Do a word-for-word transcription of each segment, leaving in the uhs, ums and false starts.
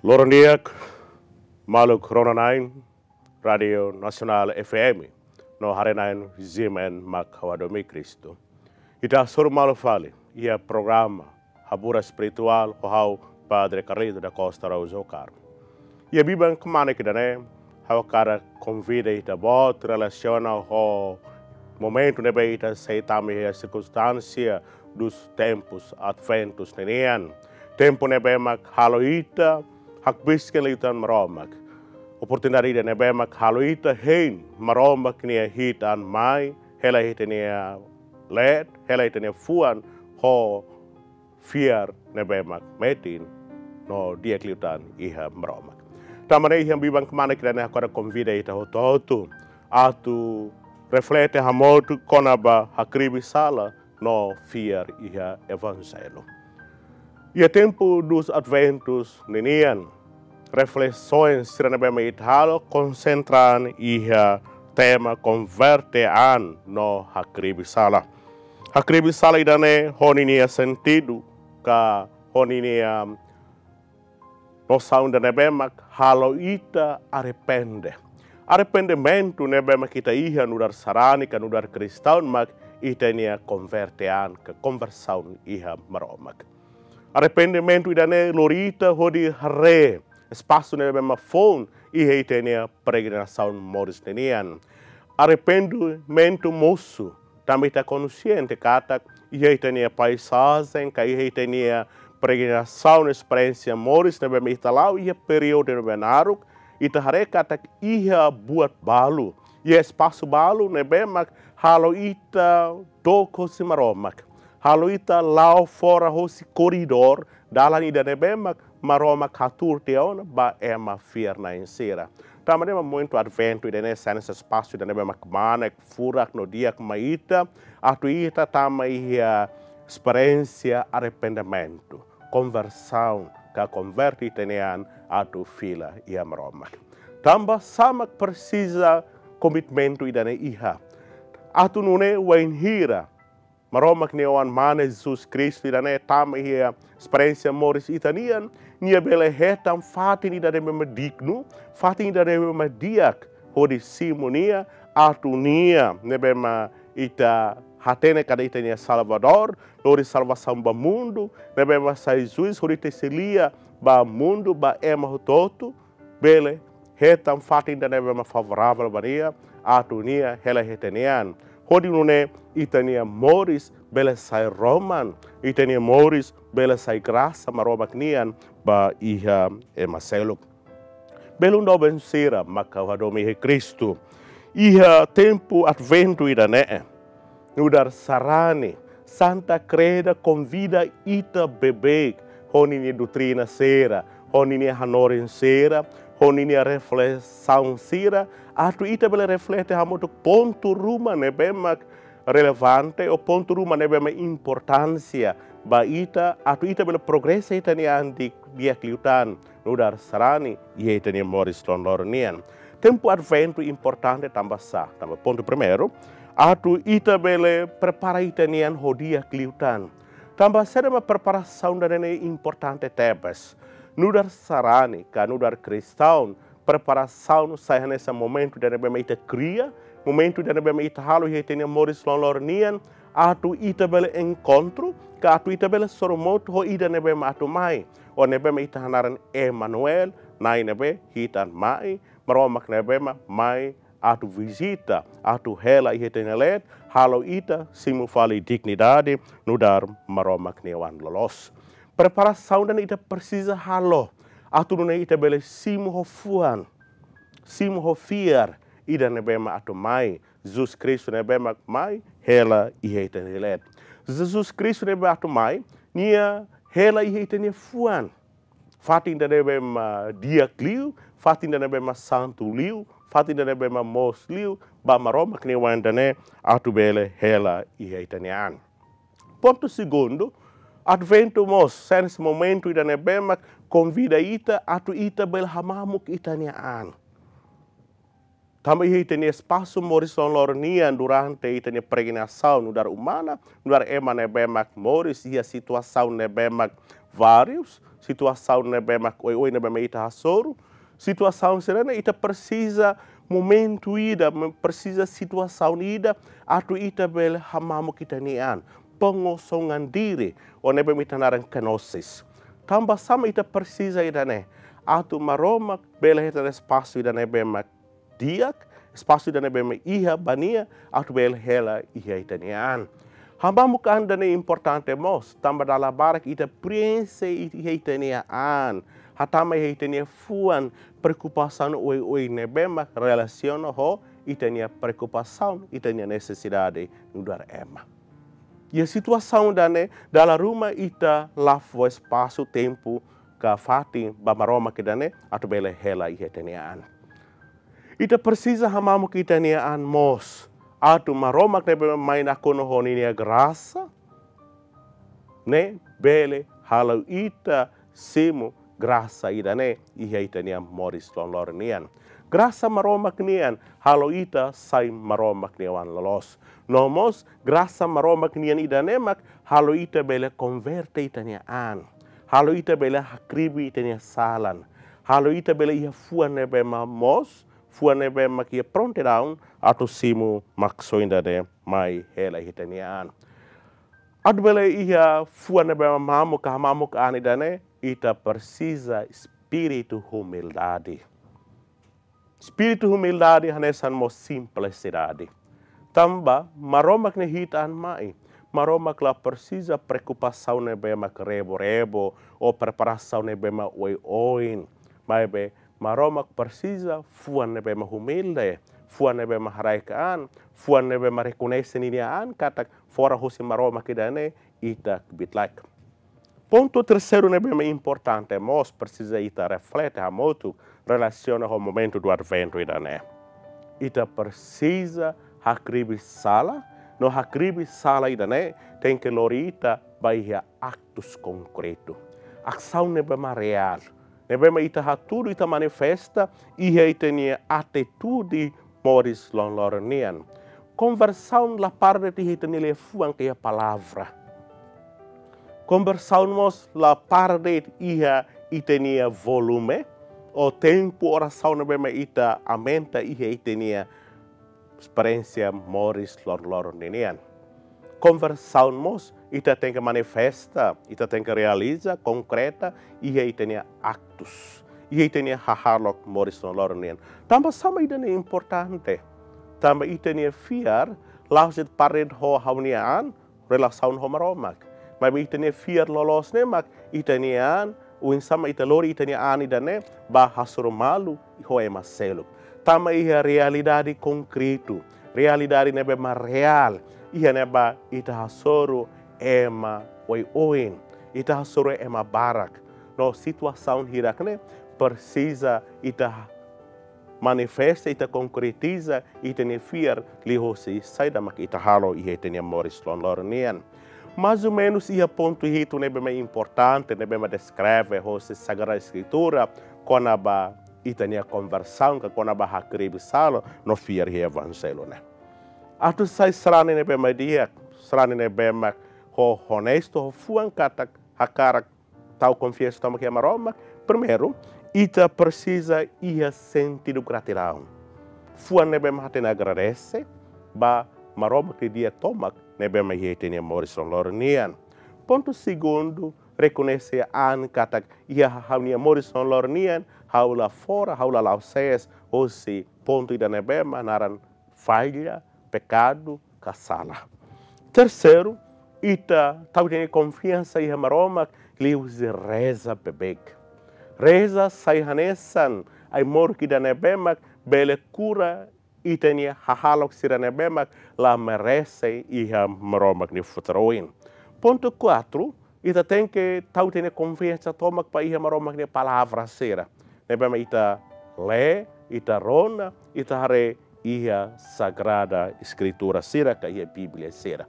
Loron di'ak, maluk rona-na'in Rádiu Nasionál F M no haree-na'in G M N mak ha'u hadomi Kristu. Ita hasoru malu fali iha programa Haburas Espirituál ho ha'u Padre Carlito da Costa Araújo Caro. Iha biban kmanek ida-ne'e, ha'u hakarak konvida ita-boot relasiona ho momentu ne'ebé ita sei tama iha sirkunstánsia dos tempos adventos ninian. Tempu ne'ebé mak halo ita hakbesik liután Maromak. Oportunidade ida ne'ebé mak halo ita hein Maromak nia hi'it an mai, hela ita-nia leet, hela ita-nia fuan ho fiar ne'ebé mak metin no di'ak liután iha Maromak. Tanba ne'e iha biban kmanek ida-ne'e ha'u hakarak konvida ita hotu-hotu atu reflete hamutuk kona-ba hakribi sala no fiar iha Evanjellu. Iha tempu dos adventos ninian, reflesaun sira ne'ebé mak ita halo konsentra iha tema konverte an no hakribi sala. Hakribi sala ida-ne'e ho ninia sentidu ka ho ninia nosaun ida ne'ebé mak halo ita arrepende. Arrependimentu ne'ebé mak ita iha nu'udar sarani ka nu'udar kristaun mak ita-nia konverte an ka konversaun iha Maromak. Arrependimentu ida-ne'e lori ita hodi haree espasu ne'ebé mak foun iha ita-nia peregrinasaun moris ninian. Arrependimentu mosu tanba ita konxiente katak iha ita-nia paisajen ka iha ita-nia peregrinasaun esperiénsia moris ne'ebé mak ita la'o iha períodu ne'ebé naruk, ita haree katak iha buat balu, iha espasu balu ne'ebé mak halo ita dook hosi Maromak, halo ita la'o fora hosi koridór dalan ida ne'ebé mak Maromak hatuur tiha ona ba ema fiar-na'in sira. Tanba ne'e mak momentu adventu ida-ne'e sai hanesan espasu ida ne'ebé mak kmanek, furak no di'ak mai ita, atu ita tama iha esperiénsia arrependimentu, konversaun ka konverte ita-nia an atu fila iha Maromak. Tanba sá mak presiza komitmentu ida-ne'e iha? Atu nune'e wainhira Maromak nia Oan-Mane Jesus Kristu ida-ne'e tama iha esperiénsia moris ita-nian, nia bele hetan fatin ida ne'ebé mak dignu, fatin ida ne'ebé mak di'ak hodi simu nia, atu nia ne'ebé mak ita hatene katak ita-nia Salvadór, lori salvasaun ba mundu, ne'ebé mak sai juís hodi tesi lia ba mundu, ba ema hotu-hotu, bele hetan fatin ida ne'ebé mak favoravel ba nia, atu nia hela iha ita-nia an. Hodi nune'e ita-nia moris bele sai roman, ita-nia moris bele sai grasa Maromak nian ba iha ema seluk. Belun doben sira mak ha'u hadomi iha Kristu, iha tempu adventu ida-ne'e, nu'udar sarani, Santa Kreda konvida ita beibeik ho ninia doutrina sira, ho ninia hanorin sira, ho ninia reflesaun sira, atu ita bele reflete hamutuk pontu ruma ne'ebé mak relevante ou pontu ruma ne'ebé mak importánsia ba ita, atu ita bele progresa ita-nia an di'ak liután nu'udar sarani iha ita-nia moris loron-loron nian. Tempu adventu importante tanba sá? Tanba pontu primeiru, atu ita bele prepara ita-nia an ho di'ak liután. Tanba saida mak preparasaun ida-ne'e importante tebes? Nu'udar sarani ka nu'udar kristaun, preparasaun sai hanesan momentu ida ne'ebé mak ita kria, momentu ida ne'ebé mak ita halo iha ita-nia moris loron-loron nian, atu ita bele enkontru ka atu ita bele sorumutu ho ida ne'ebé mak atu mai, ou ne'ebé mak ita hanaran Emanuel, Na'i ne'ebé hi'it an mai, Maromak ne'ebé mak mai atu vizita, atu hela iha ita-nia leet, halo ita simu fali dignidade nu'udar Maromak nia oan loloos. Preparasaun ida-ne'e ita presiza halo atu nune'e ita bele simu ho fuan, simu ho fiar ida ne'ebé mak atu mai, Jesus Kristu ne'ebé mak mai hela iha ita-nia leet. Jesus Kristu ne'ebé atu mai, nia hela iha ita-nia fuan. Fatin ida ne'ebé mak di'ak liu, fatin ida ne'ebé mak santu liu, fatin ida ne'ebé mak moos liu ba Maromak nia oan ida-ne'e atu bele hela iha ita-nia an. Pontu segundu, Adventu mós sai hanesan momentu ida ne'ebé mak konvida ita atu ita bele hamamuk ita-nia an. Tanba iha ita-nia espasu moris loron-loron nian durante ita-nia peregrinasaun nu'udar umana, nu'udar ema ne'ebé mak moris iha situasaun ne'ebé mak várius, situasaun ne'ebé mak oioin ne'ebé mak ita hasoru, situasaun sira-ne'e ita presiza momentu ida, me-, presiza situasaun ida, atu ita bele hamamuk ita-nia an, pengosongan diri, ou ne'ebé mak ita naran kenosis. Tanba sá mak ita presiza ida-ne'e, atu Maromak bele hetan espasu ida ne'ebé mak di'ak, espasu ida ne'ebé mak iha ba nia, atu bele hela iha ita-nia an. Hamamuk an ida-ne'e importante mós, tanba dala barak ita prienxe iha ita-nia an, hatama iha ita-nia fuan preokupasaun oioin ne'ebé mak relasiona ho ita-nia preokupasaun, ita-nia nesesidade nu'udar ema. Iha situasaun ida-ne'e, dala ruma ita la fó espasu, tempu, ka fatin ba Maromak ida-ne'e atu bele hela iha ita-nia an. Ita presiza hamamuk ita-nia an mós, atu Maromak ne'ebé mai nakonu ho ninia grasa, ne'e bele halo ita simu grasa ida-ne'e iha ita-nia moris loroloron nian. Grasa Maromak nian halo ita sai Maromak nia oan loloos. No mós grasa Maromak nian ida-ne'e mak halo ita bele konverte ita-nia an. Halo ita bele hakribi ita-nia salan. Halo ita bele iha fuan ne'ebé mak moos, fuan ne'ebé mak iha prontidaun atu simu maksoin ida-ne'e mai hela iha ita-nia an. Atu bele iha fuan ne'ebé mak mamuk, ka hamamuk an ida-ne'e, ita presiza espíritu humildade. Espíritu humildade hanesan mós simplisidade. Tanba Maromak ne'e hi'it an mai. Maromak la presiza preokupasaun ne'ebé mak rebo-rebo, ou preparasaun ne'ebé mak oioin. Maibé Maromak presiza fuan ne'ebé mak humilde, fuan ne'ebé mak haraik an, fuan ne'ebé mak rekoñese ninia an katak fora husi Maromak ida-ne'e ita kbiit laek. Pontu terseiru ne'ebé mak importante mós presiza ita reflete hamutuk relasiona ho momentu do Adventu ida-ne'e. Ita presiza hakribi sala, no hakribi sala ida-ne'e tenke lori ita ba iha aktus konkretu. Asaun ne'ebé mak reál, ne'ebé mak ita hatudu, ita manifesta iha ita-nia atitude moris loroloron nian. Konversaun la para de'it iha ita-nia liafuan ka iha palavra. Konversaun mós la para de'it iha ita-nia volume, ou tempu orasaun ne'ebé mak ita aumenta iha ita-nia esperiénsia moris loroloron ninian. Konversaun mós ita tenke manifesta, ita tenke realiza, konkreta, iha ita-nia aktus, iha ita-nia hahalok moris loroloron nian. Tanba sá mak ida-ne'e importante? Tanba ita-nia fiar la'ós de'it para de'it ho ha'u-nia an, relasaun ho Maromak. Maibé ita-nia fiar loloos ne'e mak ita-nia an, oinsá mak ita lori ita-nia an ida-ne'e ba hasoru malu ho ema seluk. Tama iha realidade konkretu, realidade ne'ebé mak reál, iha ne'ebá ita hasoru ema oioin, ita hasoru ema barak. No situasaun hirak ne'e presiza ita manifesta, ita konkretiza ita-nia fiar liuhosi saida mak ita halo iha ita-nia moris loroloron nian. Mais ou menus iha pontu hitu ne'ebé mak importante, ne'ebé mak deskreve hosi Sagrada Eskritura kona-ba ita-nia konversaun, ka kona-ba hakribi sala no fiar iha Evanjellu ne'e. Atu sai sarani ne'ebé mak di'ak, sarani ne'ebé mak ho onestu, ho fuan katak hakarak tau konfiansa tomak iha Maromak. Primeiru, ita presiza iha sentidu gratidaun. Fuan ne'ebé mak hatene agradese ba Maromak nia di'ak tomak ne'ebé mak iha ita-nia moris loroloron nian. Pontu segundu, rekoñese an katak iha ha'u-nia moris loroloron nian, ha'u la fora, ha'u la la'o sees hosi pontu ida ne'ebé mak naran falla, pekadu, ka sala. Terseiru, ita tau ita-nia konfiansa iha Maromak liuhusi reza beibeik. Reza sai hanesan ai-moruk ida ne'ebé mak bele kura ita-nia hahalok sira ne'ebé mak la merese iha Maromak nia futar oin. Pontu kuatru, ita tenke tau ita-nia konfiansa tomak ba iha Maromak nia palavra sira ne'ebé mak ita lee, ita rona, ita haree iha Sagrada Eskritura sira ka iha Bíblia sira.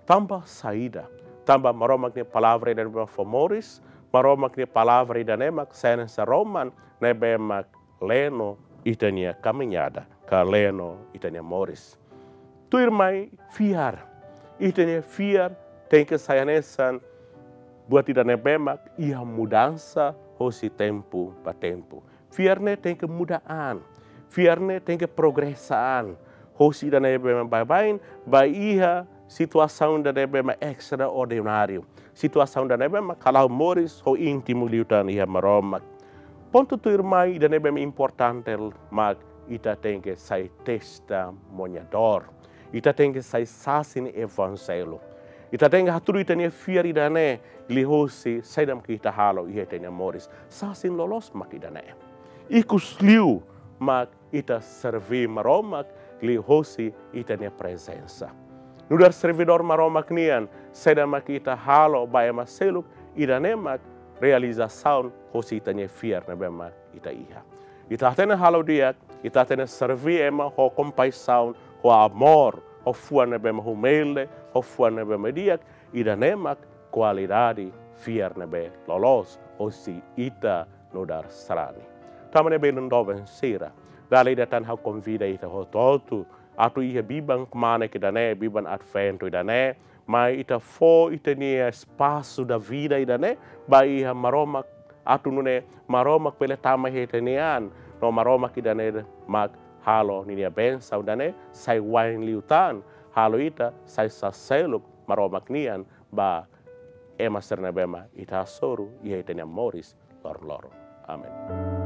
Tanba saida? Tanba Maromak nia palavra ida ne'ebé mak fó moris, Maromak nia palavra ida ne'e mak sai hanesan roman ne'ebé mak leno ita-nia kamiñada, ka leno ita-nia moris. Tuirmai fiar. Ita-nia fiar tenke sai hanesan buat ida ne'ebé mak iha mudansa hosi tempu ba tempu. Fiar ne'e tenke muda an. Fiar ne'e tenke progresa an. Hosi ida ne'ebé mak baibain ba iha situasaun ida ne'ebé mak estraordináriu. Situasaun ida ne'ebé mak halo moris ho íntimo liután iha Maromak. Pontu tuirmai ida ne'ebé mak importante mak ita tenke sai testemuñadór. Ita tenke sai sasin evanjellu. Ita tenke hatudu ita-nia fiar ida-ne'e liuhosi saida mak ita halo iha ita-nia moris. Sasin loloos mak ida-ne'e. Ikusliu mak ita serví Maromak liuhosi ita-nia prezensa. Nu'udar servidór Maromak nian, saida mak ita halo ba ema seluk, ida-ne'e mak realizasaun hosi ita-nia fiar ne'ebé mak ita iha. Ita hatene halo di'ak, ita hatene serví ema ho kompaixaun, ho amór, ho fuan ne'ebé mak humilde, ho fuan ne'ebé mak di'ak, ida-ne'e mak kualidade fiar ne'ebé loloos hosi ita nu'udar sarani. Tanba ne'e belun doben sira, dala ida tan ha'u konvida ita hotu-hotu atu iha biban kmanek ida-ne'e, biban Adventu ida-ne'e, mai ita fó ita-nia espasu da vida ida-ne'e ba iha Maromak, atu nune'e Maromak bele tama iha ita-nia an, no Maromak ida-ne'e mak halo ninia bensaun ida-ne'e sai wa'in liután, halo ita sai saseluk Maromak nian ba ema sira ne'ebé mak ita hasoru iha ita-nia moris loron-loron. Amen.